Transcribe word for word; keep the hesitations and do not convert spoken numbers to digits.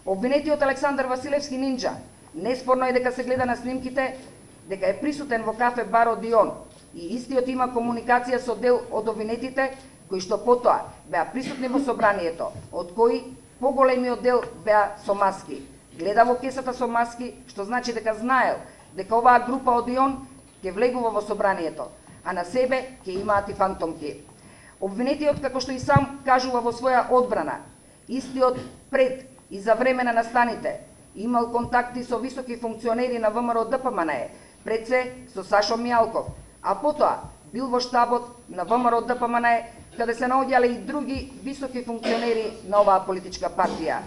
Обвинетиот Александар Василевски Нинџа, неспорно е дека се гледа на снимките дека е присутен во кафе бар Одион и истиот има комуникација со дел од обвинетите кои што потоа беа присутни во собранието, од кои поголемиот дел беа со маски. Гледа во кесата со маски, што значи дека знаел дека оваа група Одион ќе влегува во собранието, а на себе ќе имаат и фантомки. Обвинетиот, како што и сам кажува во своја одбрана, истиот пред и за време на настаните имал контакти со високи функционери на ВМРО Д П М Н Е, пред се со Сашо Мијалков, а потоа бил во штабот на ВМРО Д П М Н Е, каде се наоѓале и други високи функционери на оваа политичка партија.